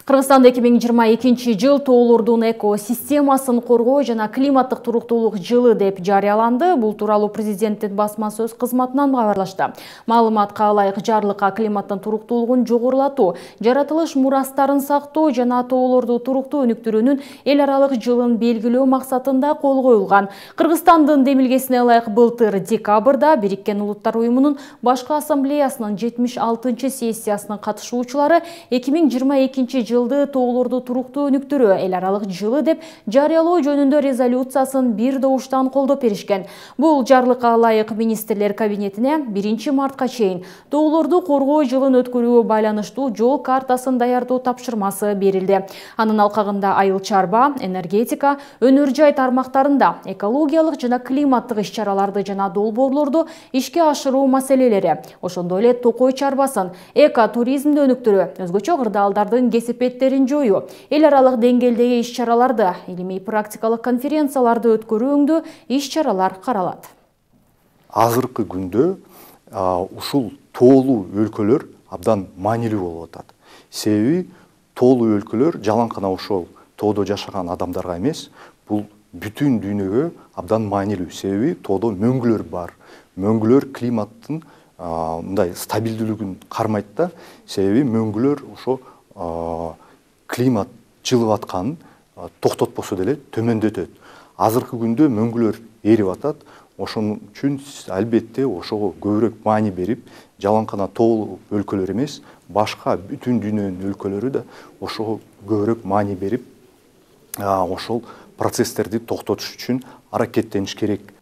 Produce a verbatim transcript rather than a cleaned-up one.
Кыргызстанда эки миң жыйырма экинчи жыл тоолордун экосистемасын коргоо жана климаттык туруктуулук жылы деп жарыяланды. Бул тууралуу президенттин басма сөз кызматынан кабарлашты. Маалыматка ылайык жарлыкка климаттын туруктуулугун жогорулатуу, жаратылыш мурастарын сактоо жана тоолорду туруктуу өнүктүрүүнүн эл аралык жылын белгилөө максатында кол коюлган. Кыргызстандын демилгесине ылайык былтыр декабрда Бириккен Улуттар уюмунун башкы ассамблеясынын жетимиш алтынчы сессиясынын катышуучулары эки миң жыйырма экинчи жылды тоолорду туруктуу өнүктүрүү эл аралык жылы деп жарыялоо жөнүндө резолюциясын бир добуштан колдоп беришкен. Бул жарлыкка ылайык министрлер кабинетине биринчи мартка чейин тоолорду коргоо жылын өткөрүүгө байланыштуу жол картасын даярдоо тапшырмасы берилди. Анын алкагында айыл чарба, энергетика, өнөр жай тармактарында экологиялык жана климаттык иш-чараларды жана долбоорлорду ишке ашыруу маселелери, ошондой эле токой чарбасын, эко-туризмди өнүктүрүү, өзгөчө кырдаалдардын кесепеттерин жоюу, эл аралык деңгээлдеги иш-чараларды, илимий практикалык конференцияларды өткөрүүңдүү иш-чаралар каралат. Азыркы күндө ушул тоолуу өлкөлөр абдан маанилүү болуп атат. Себеби тоолуу өлкөлөр жалаңкана ошол тоодо жашаган адамдарга эмес, бул бүтүн дүйнөгө абдан маанилүү. Себеби тоодо мөңгүлөр бар. Мөңгүлөр климаттын мындай стабилдүүлүгүн кармайт да. Себеби мөңгүлөр ошо климат жылып атканын токтотпосо деле төмөндөтөт. Азыркы күндө мөңгүлөр эрип атат. Ошон үчүн албетте ошого көбүрөөк маани берип, жалаңкана тоолуу өлкөлөр эмес, башка бүтүн дүйнөнүн өлкөлөрү да ошого көбүрөөк маани берип, ошол процесстерди токтотуш үчүн аракеттениш керек